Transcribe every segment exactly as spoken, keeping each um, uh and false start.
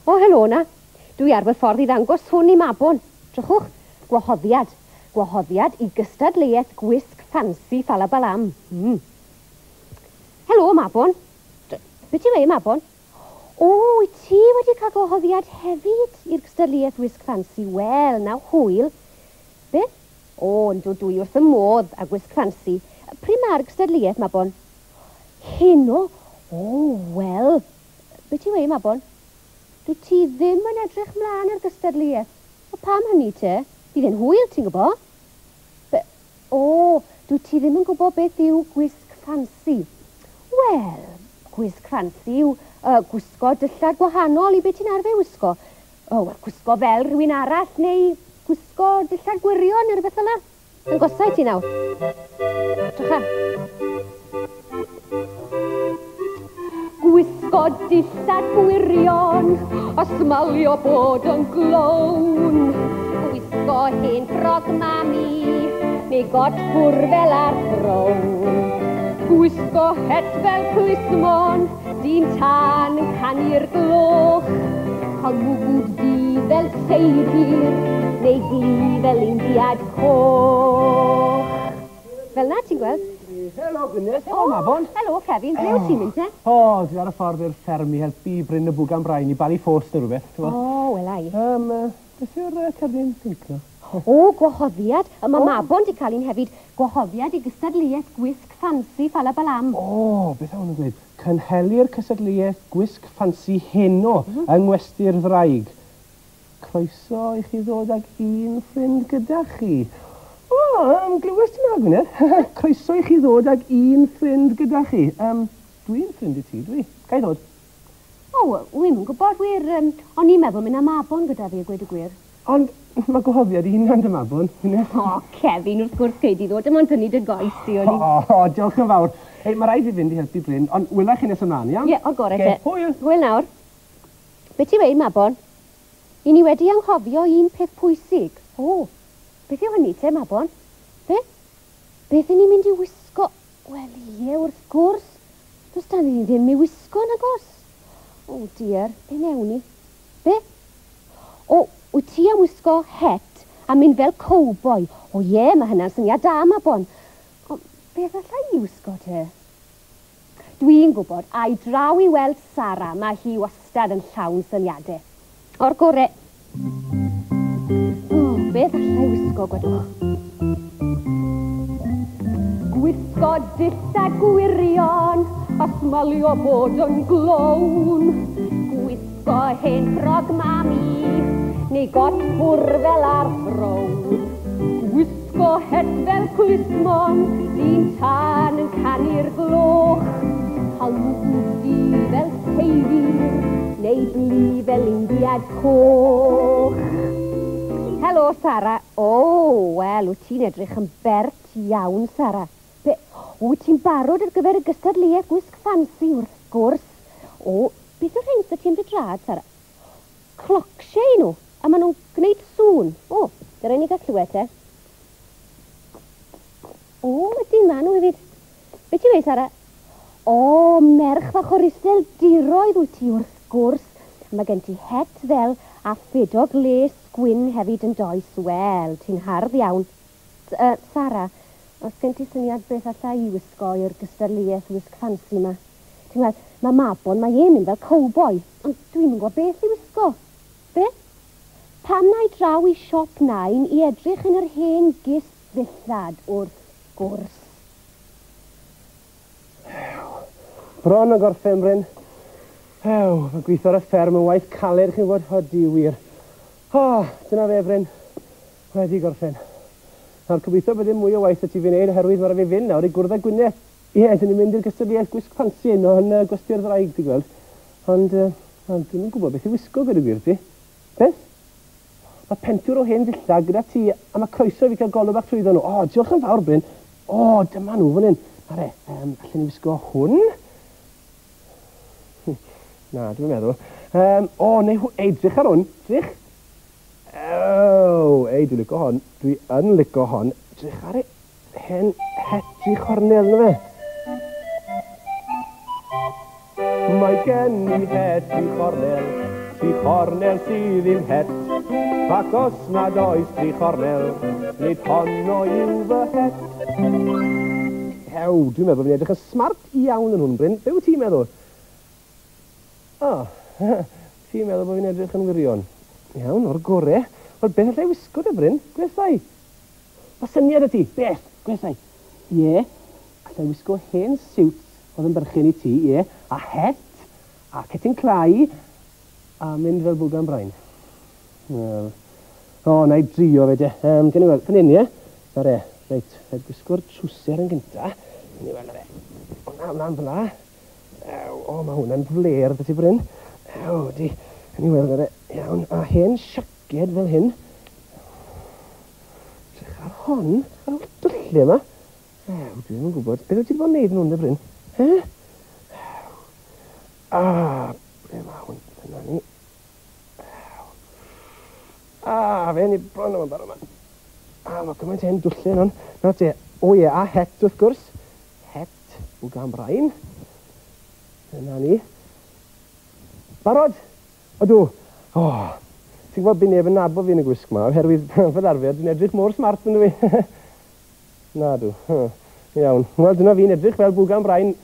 O, helo na. Dwi ar fy ffordd i ddangos hwn i Mabon. Drychwch, gwahoddiad. Gwahoddiad i gystadleuaeth gwisg ffansi Ffalabalam. Mm. Helo, Mabon. Be ti'n weud, Mabon? O, wyt ti wedi cael gwahoddiad hefyd i'r gystadleuaeth wisg ffansi? Wel, na hwyl. Beth? O, yndw, dwi wrth y modd a gwisg ffansi. Pryd mae'r gystadleuaeth, Mabon? Heno? O, wel. Be ti'n weud, Mabon? Dwi ti ddim yn edrych mlaen ar gystadleuaeth. O, pam hynny te? Bydd e'n hwyl, ti'n gwybod? Be o, dwi ti ddim yn gwybod beth yw gwisg ffansi. Wel, gwisg ffansi yw uh, gwisgo dillad gwahanol i beth ti'n arfer wisgo. O, wel, gwisgo fel rhywun arall neu gwisgo dillad gwirion neu rhywbeth fel 'na. Dangosai ti nawr. Drycha. Gwisgo dillad gwirion a smalio bod yn glown. Gwisgo hen ffrog mami neu got ffwr fel ar frown. Gwisgo het fel plismon, dyn tân yn canu'r gloch. Cael mwgwd du fel seidr neu glu fel Indiad coch. Fel 'na ti'n gweld? Helo, Gwyneth. Helo, Mabon. Helo, Kevin. Ble wyt ti'n mynd te? O, dwi ar y ffordd i'r fferm i helpu Bryn y Bwgan Brain i balu ffos neu rhywbeth. O, wela i. Um, beth yw'r uh, cerdyn pinc 'na? O, gwahoddiad. A mae Mabon 'di cael un hefyd. Gwahoddiad i gystadleuaeth gwisg ffansi Ffalabalam. O, beth o'n nhw'n dweud? Cynhelir cystadleuaeth gwisg ffansi heno mm -hmm. yng Ngwesty'r Ddraig. Croeso i chi ddod ag un ffrind gyda chi. O, um, glywes ti na, Gwyneth? Croeso i chi ddod ag un ffrind gyda chi. Um, dwi'n ffrind i ti, dwi. Ga i ddod? O, wi'm yn gwybod, wir. Um, o'n i'n meddwl mynd â Mabon gyda fi, a gweud y gwir. Ond mae gwahoddiad i hunan dy Mabon, Gwyneth. O, Kevin, wrth gwrs gei di ddod. Dim ond tynnu dy goes di, o'n i. O, o, diolch yn fawr. Ei, mae rhaid fi fynd i helpu Bryn, ond wela chi nes ymlaen, iawn? Ie, o'r gorau te. Hwyl. Hwyl nawr. Be ti'n weud, Mabon? I ni wedi anghofio un peth pwysig. O, beth yw hynny te, Mabon? Be? Beth 'yn ni'n mynd i wisgo? Wel, ie, wrth gwrs. Does 'da ni ddim i wisgo, nag oes? O, dear, be newn ni? Be? O, wyt ti am wisgo het a mynd fel cowboy? O ie, mae hynna'n syniad da, Mabon. O, beth alla i wisgo te? Dwi'n gwybod, a i draw i weld Sara, mae hi wastad yn llawn syniadau. O'r gore. O, beth alla i wisgo, gwedwch? Gwisgo dillad gwirion a smalio bod yn glown. Gwisgo hen ffrog mami neu got ffwr fel ar frown. Gwisgo het fel plismon, dyn tân yn canu'r gloch. Cael mwgwd du fel seidr neu blu fel Indiad coch. Helo, Sara. O, wel, wyt ti'n edrych yn bert iawn, Sara. Be, wyt ti'n barod ar gyfer y gystadleuaeth gwisg ffansi, wrth gwrs. O, beth yw'r rhain sydd ti'n dy drad, Sara? Clocsiau nhw, a maen nhw'n gwneud sŵn. O, dyna ni gael clywed te. O, ydyn, maen nhw hefyd. Be ti'n weud, Sara? O, merch fach o'r Iseldiroedd wyt ti, wrth gwrs. Mae gen ti het ddel a ffedog les gwyn hefyd yn does. Wel, ti'n hardd iawn. Uh, Sara, os gen ti syniad beth alla i wisgo i'r gystadleuaeth wisg ffansi yma? Ti'n gweld, mae Mabon, mae e'n mynd fel cowboy, ond dwi'm yn gwybod beth i wisgo. Be? Pam na i draw i siop nain i edrych yn yr hen gist ddillad, wrth gwrs. Bron o gorffen, Bryn. Ew, mae gweithio ar y fferm yn waith caled, chi'n gwybod, o di wir. O, dyna fe, Bryn. Wedi gorffen. Nawr, gobeithio bydd ddim mwy o waith y ti fi wneud, oherwydd mae rhaid fi fynd nawr i gwrdd â Gwyneth. Ie, dyn ni'n mynd i'r gystadleuaeth gwisg ffansi yno yn uh, Gwesty'r Ddraig, ti'n gweld. Ond, uh, ond dwi'm yn gwybod beth i wisgo gyda gwir ti. Beth? Mae pentwr o hen ddillad gyda ti, a mae croeso i fi cael golwg bach trwyddo nhw. O, diolch yn fawr, Bryn. O, dyma nhw fan hyn. Are, um, allen ni wisgo hwn? Na, dwi'n meddwl. Um, o, neu, ei, drych ar hwn. Drych. O, ei, dwi'n licio hon. Dwi yn licio hon. Drych ar ei hen het tri chornel, na fe. Mae gen i het tri chornel, Tri chornel sydd i'm het, ac os nad oes tri chornel, nid honno yw fy het. Hew, dwi'n meddwl fi'n edrych yn smart iawn yn hwn, Bryn. Be wyt ti'n meddwl? O, ti'n meddwl bod fi'n edrych yn wirion? Iawn, o'r gore. Wel, beth allai wisgo de, Bryn? Gwethau. Mae syniad y ti? Beth? Gwethau. Ie, allai wisgo hen siwt oedd yn berchen i ti, ie, a het, a cetyn clai, a mynd fel bwgan brain. Wel, o, na i drio fe de. Um, Gen i weld, fan hyn, ie? Na re, reit, rhaid gwisgo'r trwser yn gynta. Gen i weld, na re. O, na, mlaen fel la. Ew, o, mae hwnna'n fler, dy ti, Bryn. Ew, di. Gen i weld, na re. Iawn, a hen siaced fel hyn. Edrych ar hon, ar ôl dyllu yma. Ew, dwi ddim yn gwybod. Beth wyt ti wedi bod yn neud yn hwn, de, Bryn? He? Ew. Ah, ble mae hwn? Dyna ni. Ah, fe ni bron o'n barod yma. Ah, mae gymaint hen dwllau yn hwn. Nawr te, o ie, a het wrth gwrs. Het, bwgan brain. Dyna ni. Barod? Ydw. O, ti'n gwybod bydd neb yn nabod fi yn y gwisg yma, oherwydd fel arfer, dwi'n edrych mor smart yn dwi. Na dw. Iawn. Wel, dyna fi'n edrych fel bwgan brain.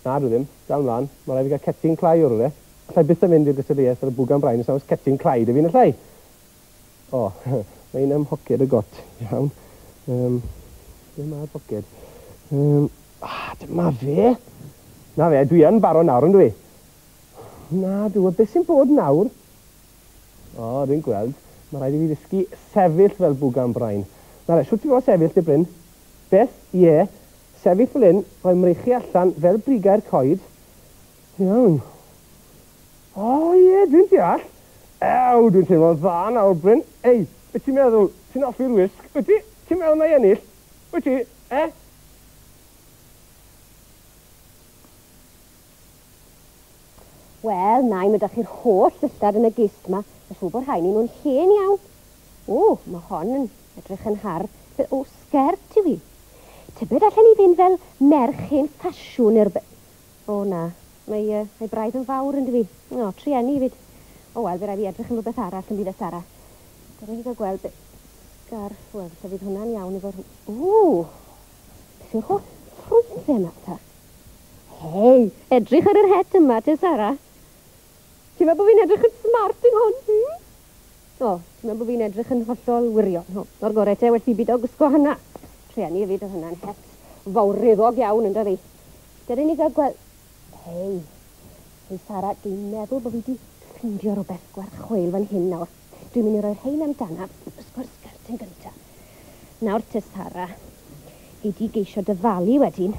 Na dw ddim. Dal mlaen. Mae rhaid fi gael cetyn clai o'r rhywle. Allai byth yn mynd i'r gystadleuaeth fel bwgan brain os oes cetyn clai dy fi'n allai. O, mae un ym mhoced y got. Iawn. Um, ble mae'r poced? Um, ah, dyma fe. Na fe, dwi yn barod nawr, yn dwi? Na dw, a beth sy'n bod nawr? O, dwi'n gweld. Mae rhaid i fi ddysgu sefyll fel bwgan brain. Na re, siwt ti fod sefyll, dy Bryn? Beth? Ie. Sefyll fel hyn, rhoi mreichu allan fel brigau'r coed. Iawn. O, ie, dwi'n deall. Ew, dwi'n teimlo'n dda nawr, Bryn. Ei, beth ti'n meddwl? Ti'n hoffi'r wisg? Wyt ti? Ti'n meddwl na i ennill? Wyt ti? E? Wel, na i mynd â chi'r holl ddillad yn y gist yma. Mae siŵr bod rhain i nhw'n hen iawn. O, mae hon yn edrych yn hardd. O, sgert yw hi. Tybed allan ni fynd fel merch hen ffasiwn i'r... O, na. Mae, uh, mae braidd yn fawr yn dwi. O, trueni fyd. O, wel, fe rai fi edrych yn rhywbeth arall yn byd y Sara. Dyna ni gael gweld beth... Sgarff, wel, falle fydd hwnna'n iawn efo'r... O! Beth yw'r holl ffrwythau yma, ta? Hei, edrych ar yr het yma, te, Sara. Ti'n meddwl bod fi'n edrych yn smart yn hon? Hmm? O, ti'n meddwl bod fi'n edrych yn hollol wirion. O, o'r gorau te, well fi byd o gwisgo hynna. Trueni hefyd, oedd hynna'n het fawreddog iawn, yn dydi. Dyna ni gael gweld... Hei, hei Sara, dwi'n meddwl bod fi wedi ffeindio rhywbeth gwerth chweil fan hyn nawr. Dwi'n mynd i roi'r rhain amdana, ysgo'r sgert yn gyntaf. Nawr te, Sara, gei di geisio dyfalu wedyn.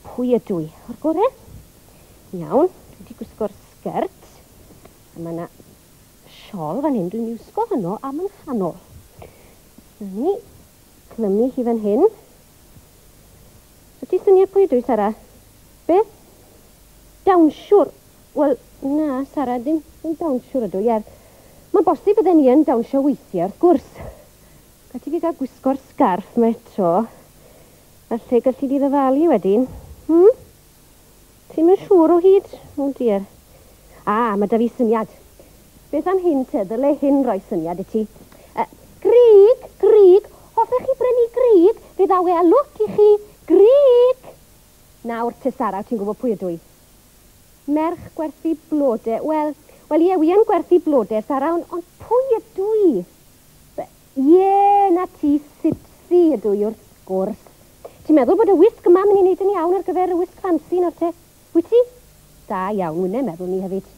Pwy ydw i? O'r gore? Iawn, dwi wedi gwisgo'r sgert. A mae yna siol fan hyn, dwi'n wisgo hwnnw am yng nghanol. Na ni, clymu hi fan hyn. So ti syniad pwy ydw i, Sara? Beth? Dawnsiwr. Wel, na, Sara, dim, dim dawnsiwr ydw i. Er, mae'n bosib bydden ni yn dawnsio weithiau, wrth gwrs. Gall ti fi gael gwisgo'r sgarff yma eto. Falle gallu di ddyfalu wedyn. Hmm? Ti'n mynd siŵr o hyd? O, dear. Ah, mae da fi syniad. Beth am hyn te? Ddyle hyn roi syniad i ti. Uh, grig, grig. Hoffech chi brynu grig? Fe ddaw e a lwc i chi. Grig! Nawr te, Sara, ti'n gwybod pwy ydw i? Merch gwerthu blode. Wel, wel ie, wi yn gwerthu blode, Sara, ond on pwy ydw i? Ie, na ti, Sipsi ydw i wrth gwrs. Ti'n meddwl bod y wisg yma mynd i wneud yn iawn ar gyfer y wisg ffansi nawr te? Wyt ti? Da iawn, wy'n meddwl ni hefyd.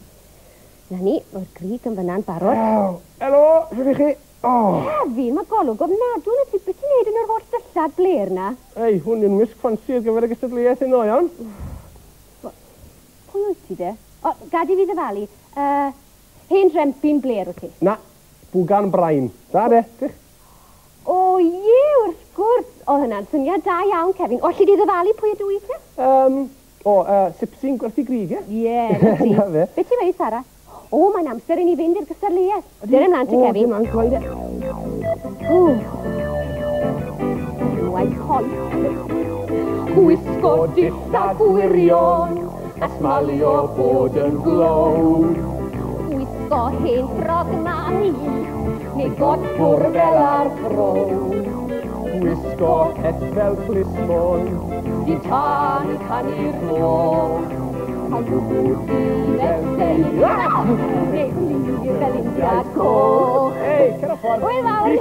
Na ni, o'r grig yn fyna'n barod. Ew, helo, shwt i chi? Oh. Kevin, mae golwg ofnadwy na ti. Beth ti'n neud yn yr holl ddillad bler na? Ei, hwn yw'n wisg ffansi ar gyfer y gystadleuaeth heno, iawn? Pwy wyt ti de? O, gad i fi ddyfalu. Uh, hen rempyn bler wyt ti? Na, bwgan brain. Da de, dych. O ie, wrth gwrs. O, hynna'n syniad da iawn, Kevin. O, alli di ddyfalu pwy ydw i te? Um, o, uh, Sipsi'n gwerthu grig, ie? Ie, na ti. Na fe. Beth ti'n meddwl, Sara? O, mae'n amser i ni fynd i'r gystadleuaeth. Dyna ymlaen te, Kevin. O, dyna ymlaen, cloi de. O. Enwau coeth. Gwisgo dillad gwirion, a smalio bod yn glown. Gwisgo Gwisgo hen ffrog mami, neu got Cwr fel ar fro. Gwisgo het fel plismon. Dyn tân yn canu'r gloch. Cael gwbl du fel seir, neu glir fel Indiad coch. Ei, cer o ffordd. Hwyl fawr!